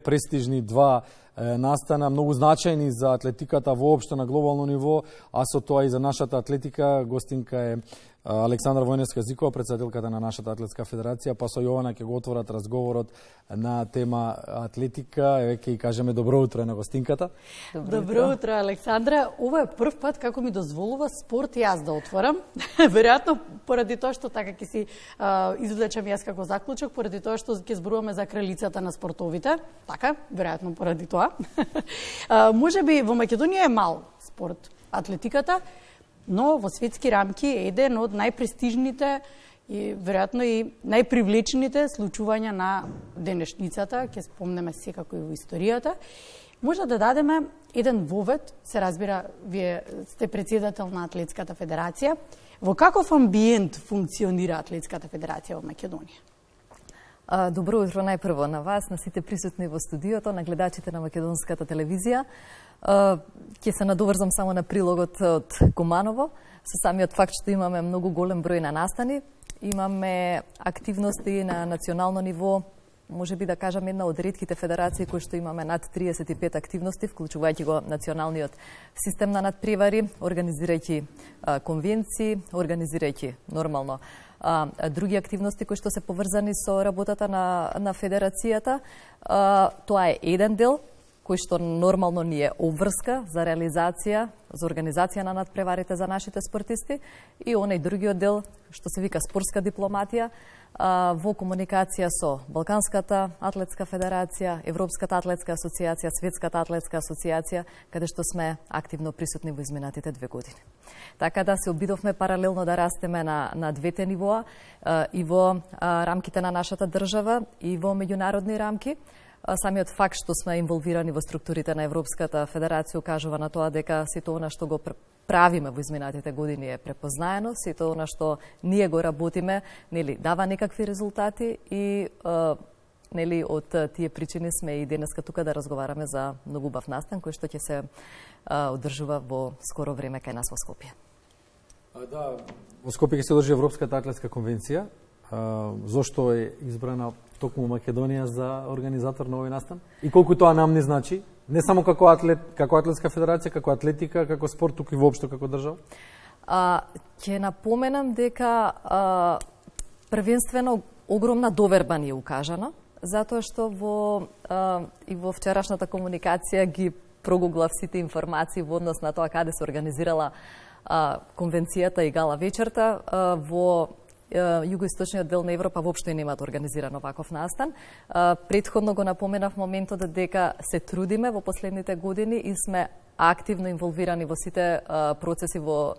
престижни два настана, многу значајни за атлетиката воопшто на глобално ниво, а со тоа и за нашата атлетика. Гостинка е Александра Војневска-Зикова, председателката на нашата атлетска федерација, па со Јована ќе го отворат разговорот на тема атлетика. Еве ќе кажеме добро утро на гостинката. Добро утро, Александра. Ова е прв пат како ми дозволува спорт и јас да отворам. Веројатно поради тоа што така ќе си извлечам јас како заклучок, поради тоа што ќе зборуваме за кралицата на спортовите. Така, веројатно поради тоа. Можеби во Македонија е мал спорт атлетиката, но во светски рамки е еден од најпрестижните и веројатно и најпривлечените случувања на денешницата, ќе спомнеме секако и во историјата. Може да дадеме еден вовед, се разбира, вие сте председател на Атлетската федерација. Во каков амбиент функционира Атлетската федерација во Македонија? Добро утро најпрво на вас, на сите присутни во студиото, на гледачите на македонската телевизија. Ќе се надоврзам само на прилогот од Куманово. Со самиот факт што имаме многу голем број на настани, имаме активности на национално ниво, може би да кажам една од ретките федерации кои што имаме над 35 активности, вклучувајќи го националниот систем на надпревари, организирајќи конвенции, организирајќи нормално други активности кои што се поврзани со работата на федерацијата. Тоа е еден дел кој што нормално ни е обврска за реализација, за организација на надпреварите за нашите спортисти, и онај другиот дел што се вика спортска дипломатија во комуникација со Балканската атлетска федерација, Европската атлетска асоциација, Светската атлетска асоциација, каде што сме активно присутни во изминатите 2 години. Така да се обидовме паралелно да растеме на двете нивоа, и во рамките на нашата држава и во меѓународни рамки. Самиот факт што сме инволвирани во структурите на Европската федерација укажува на тоа дека сето она што го правиме во изминатите години е препознаено, сето она што ние го работиме, нели, дава некакви резултати и нели од тие причини сме и денеска тука да разговараме за многу убав настан кој што ќе се одржува во скоро време кај нас во Скопје. Да, во Скопје ќе се одржи Европската атлетска конвенција. Зошто е избрана токму Македонија за организатор на овој настан? И колку тоа нам не значи? Не само како атлет, како атлетска федерација, како атлетика, како спорт, туку и воопшто како држава? Ќе напоменам дека првенствено огромна доверба ни е укажана, затоа што и во вчерашната комуникација ги прогуглав сите информации во однос на тоа каде се организирала конвенцијата и гала вечерта. Во југоисточниот дел на Европа воопшто немаат организиран оваков настан. Претходно го напоменав моментот дека се трудиме во последните години и сме активно инволвирани во сите процеси во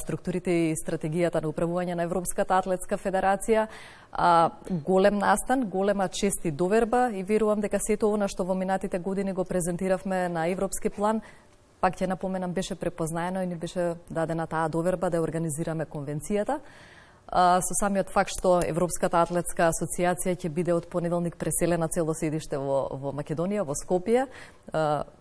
структурите и стратегијата на управување на Европската атлетска федерација. Голем настан, голема чест и доверба, и верувам дека сето она што во минатите години го презентиравме на европски план, пак ќе напоменам, беше препознаено и ни беше дадена таа доверба да организираме конвенцијата. Со самиот факт што Европската атлетска асоциација ќе биде од понеделник преселена цело седиште во Македонија, во Скопје.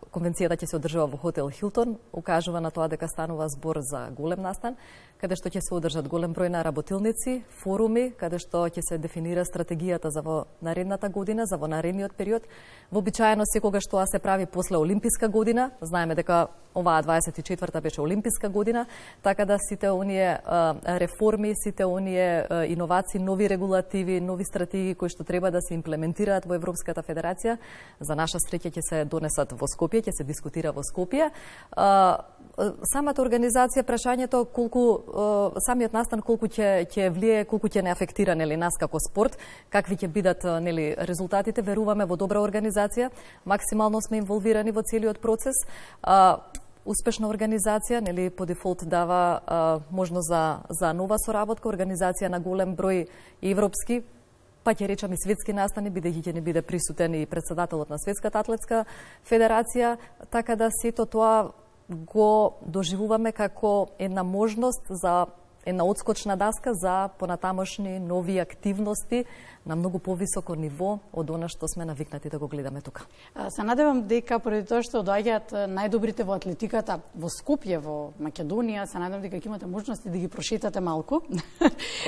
Конвенцијата ќе се одржува во хотел Хилтон, укажува на тоа дека станува збор за голем настан, каде што ќе се одржат голем број на работилници, форуми, каде што ќе се дефинира стратегијата за во наредната година, за во наредниот период. Вообичаено секогаш тоа се прави после Олимписка година. Знаеме дека оваа 24-та беше Олимписка година, така да сите оние реформи, сите оние иновации, нови регулативи, нови стратегии кои што треба да се имплементираат во Европската федерација, за наша среќа ќе се донесат во Скопје, ќе се дискутира во Скопје. Самата организација, прашањето колку самиот настан колку ќе влие, колку ќе не афектира нели нас како спорт, какви ќе бидат нели резултатите, веруваме во добра организација, максимално сме инволвирани во целиот процес. Успешна организација, нели по дефолт дава можност за нова соработка, организација на голем број европски, па ќе речам и светски настани, бидејќи ќе не биде присутен и председателот на Светската атлетска федерација, така да сето тоа го доживуваме како една можност за една одскочна даска за понатамошни нови активности на многу повисоко ниво од она што сме навикнати да го гледаме тука. Се надевам дека поради тоа што доаѓаат најдобрите во атлетиката во Скопје, во Македонија, се надевам дека ќе имате можности да ги прошетате малку,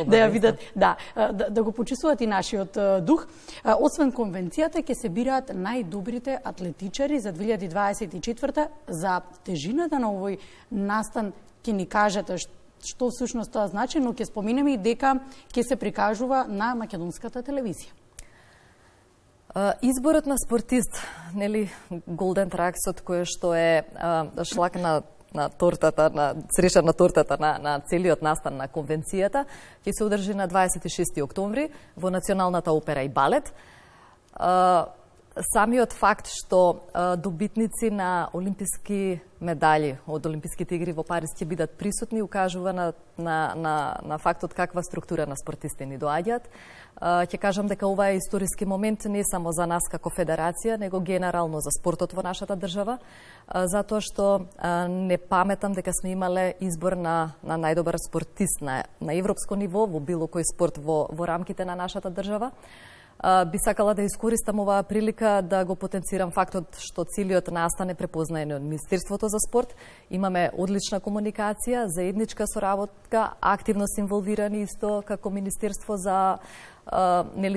да ја видат, да го почувствуваат и нашиот дух. Освен конвенцијата, ќе се бираат најдобрите атлетичари за 2024 за тежината на овој настан. Ќе ни кажете што всушност тоа значи, но ќе споменеме и дека ќе се прикажува на македонската телевизија. Изборот на спортист, нели, Голден Траксот, кој што е шлак на тортата, на цреша на тортата на целиот настан на конвенцијата, ќе се одржи на 26 октомври во Националната опера и балет. Самиот факт што добитници на олимписки медали од Олимписките игри во Париз ќе бидат присутни укажува на фактот каква структура на спортисти ни доаѓаат. Ќе кажам дека ова е историски момент не само за нас како федерација, него генерално за спортот во нашата држава, затоа што не паметам дека сме имале избор на најдобар спортист на европско ниво во било кој спорт во рамките на нашата држава. Би сакала да искористам оваа прилика да го потенцирам фактот што целиот настан е препознаен од Министерството за спорт. Имаме одлична комуникација, заедничка соработка, активно се инволвирани исто како Министерство за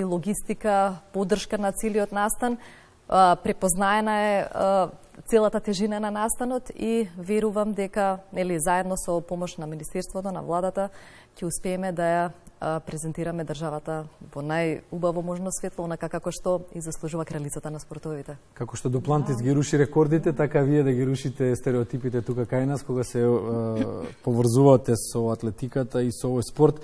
логистика, поддршка на целиот настан. Препознаена е целата тежина на настанот и верувам дека заедно со помош на Министерството, на владата, ќе успееме да ја презентираме државата во најубаво можно светло, онака како што и заслужува кралицата на спортовите. Како што Дуплантис ги руши рекордите, така вие да ги рушите стереотипите тука кај нас, кога се поврзувате со атлетиката и со овој спорт.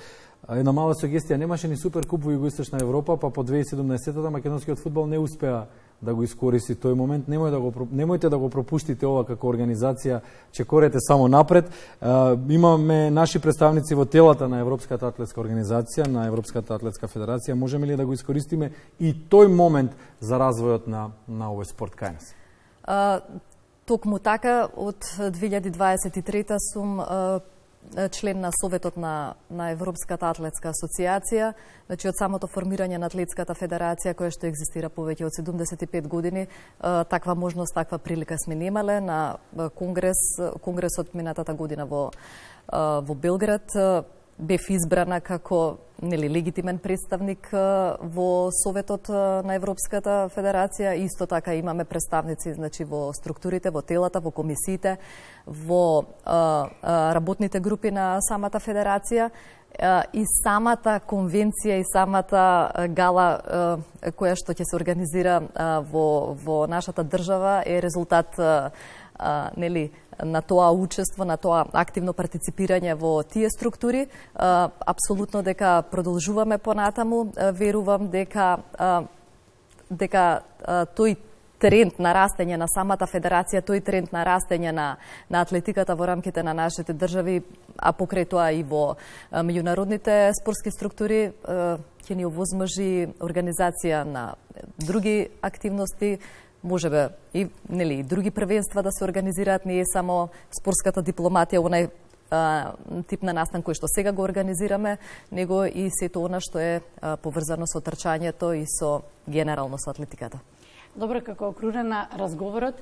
Една мала сугестија, немаше ни Суперкуп во Југоисточна Европа, па по 2017-та македонскиот фудбал не успеа да го искористи тој момент. Немојте да го пропуштите ова како организација, чекорете само напред. Имаме наши представници во телата на Европската атлетска организација, на Европската атлетска федерација. Можеме ли да го искористиме и тој момент за развојот на овој спорт кај нас? Токму така, од 2023 сум член на Советот на Европската атлетска асоциација. Значи, од самото формирање на Атлетската федерација, која што екзистира повеќе од 75 години, таква можност, таква прилика сме немале. На конгресот минатата година во Белград бев избрана како легитимен представник во Советот на Европската федерација. Исто така имаме представници, значи, во структурите, во телата, во комисиите, во работните групи на самата федерација. И самата конвенција и самата гала која што ќе се организира во нашата држава е резултат на тоа учество, на тоа активно партиципирање во тие структури. Апсолутно дека продолжуваме понатаму. Верувам дека тој тренд на растење на самата федерација, тој тренд на растење на атлетиката во рамките на нашите држави, а покрај тоа и во меѓународните спортски структури, ќе ни овозможи организација на други активности, можебе и други првенства да се организираат, не е само спортската дипломатија, онај тип на настан кој што сега го организираме, него и сето она што е поврзано со трчањето и со генерално со атлетиката. Добро, како окружен на разговорот,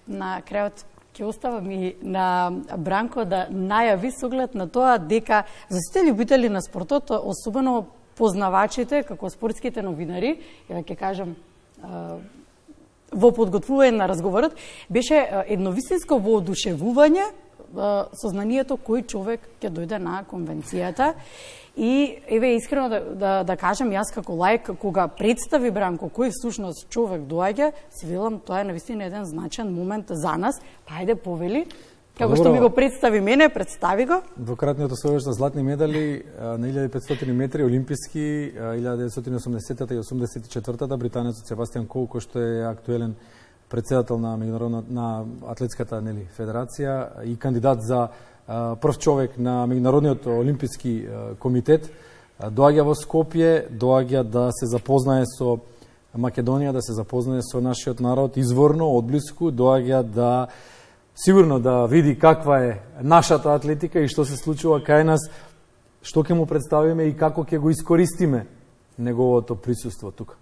на крајот ќе оставам и на Бранко да најави со оглед на тоа дека за сите љубители на спортот, особено познавачите како спортските новинари, ја ќе кажам во подготвување на разговорот, беше едновистинско воодушевување сознанието кој човек ќе дојде на конвенцијата. И еве искрено да кажам, јас како лаик, кога представи Бранко кој всушност човек доаѓа, си велам тоа е навистина еден значаен момент за нас. Па ајде повели, како што ми го представи мене, представи го. Двократниот освојувач на златни медали на 1500 метри олимписки 1980-та и 84-та, британецот Себастијан Коу, кој што е актуелен претседател на атлетската федерација и кандидат за прв човек на Меѓународниот олимписки комитет, доаѓа во Скопје, доаѓа да се запознае со Македонија, да се запознае со нашиот народ изворно, одблиску, доаѓа да сигурно да види каква е нашата атлетика и што се случува кај нас, што ќе му представиме и како ќе го искористиме неговото присуство тука.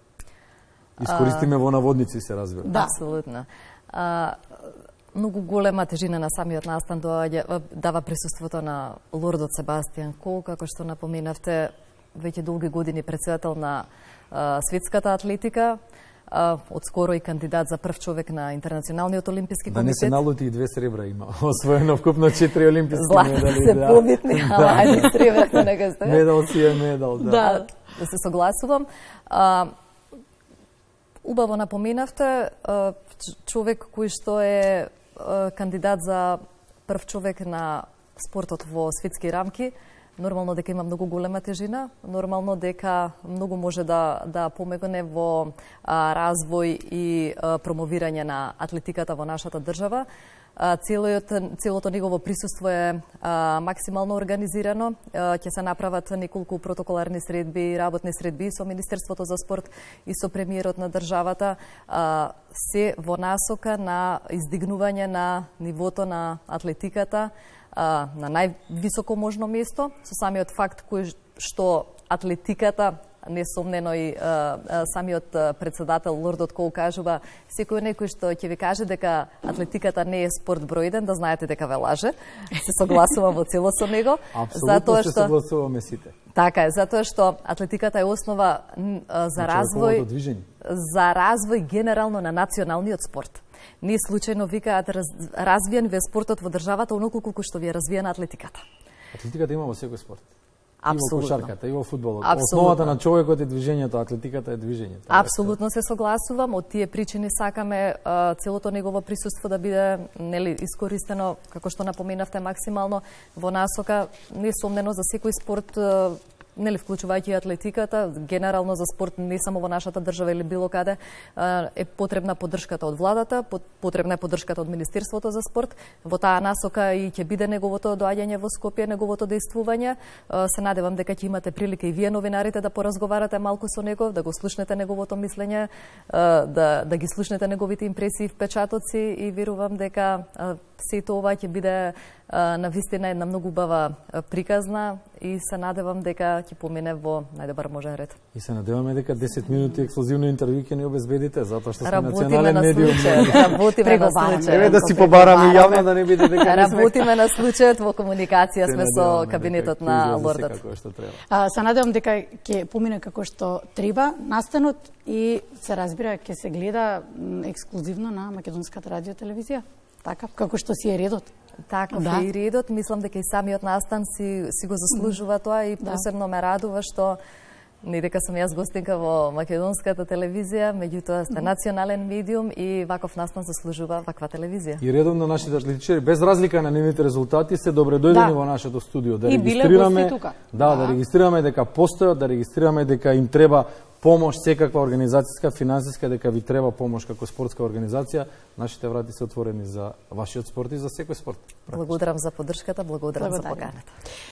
Искористиме во наводници, се разбира. Да, апсолутно. Многу голема тежина на самиот настан дава присуството на лордот Себастијан Кол, како што напоменавте, веќе долги години председател на светската атлетика, одскоро и кандидат за прв човек на Интернационалниот олимписки комитет. Да не се налути и 2 сребра има. Освоено вкупно 4 олимписки медали. Злата се побитни, ала ајде сребрата нека стои. Медал си е медал, да. Да се согласувам. Убаво напоменавте, човек кој што е кандидат за прв човек на спортот во светски рамки, нормално дека има многу голема тежина, нормално дека многу може да помогне во развој и промовирање на атлетиката во нашата држава. Целото негово присуство е максимално организирано. Ќе се направат неколку протоколарни средби, работни средби со Министерството за спорт и со премиерот на државата, се во насока на издигнување на нивото на атлетиката на највисоко можно место, со самиот факт кој што атлетиката, несомнено и самиот председател лордот Кол кажува, секој некој што ќе ви каже дека атлетиката не е спорт број 1, да знаете дека ве лаже. Се согласувам во цело со него. Апсолутно се согласуваме сите. Така е, затоа што атлетиката е основа за развој генерално на националниот спорт. Не случајно викаат развиен ве спортот во државата оноку колку што ви е развиена атлетиката. Атлетиката има во секој спорт. Апсолутно. И во кошарката, и во фудбалот. Основата на човекот е движењето, атлетиката е движењето. Апсолутно се согласувам. Од тие причини сакаме целото негово присуство да биде искористено, како што напоменавте, максимално во насока, несомнено за секој спорт, вклучувајќи и атлетиката, генерално за спорт не само во нашата држава или било каде, е потребна поддршката од владата, потребна е поддршката од Министерството за спорт. Во таа насока и ќе биде неговото доаѓање во Скопје, неговото дејствување. Се надевам дека ќе имате прилика и вие новинарите да поразговарате малку со него, да го слушнете неговото мислење, да ги слушнете неговите импресии и впечатоци и верувам дека сето ова ќе биде на вистина една многу убава приказна и се надевам дека ќе помине во најдобар можен ред. И се надеваме дека 10 минути ексклузивно интервју ќе ни обезбедите, затоа што сме национален медиум. Работиме на случај. Еве да си побараме јавно да не биде дека работиме на случајот, во комуникација сме со кабинетот на лордот. Се надевам дека ќе помине како што треба настанот и се разбира ќе се гледа ексклузивно на Македонската радио телевизија. Така, како што си е редот. Така, да. И редот, мислам дека и самиот настан си го заслужува тоа и посебно ме радува што не дека сум јас гостинка во Македонската телевизија, меѓутоа сте национален медиум и ваков настан заслужува ваква телевизија. И редовно нашите атлетичари, без разлика на нивните резултати, се добредојдени во нашето студио. Да регистрираме, да регистрираме дека постојат, да регистрираме дека им треба помош, секаква организацијска, финансиска, дека ви треба помош како спортска организација. Нашите врати се отворени за вашиот спорт и за секој спорт. Благодарам за поддршката, благодарам за поканата.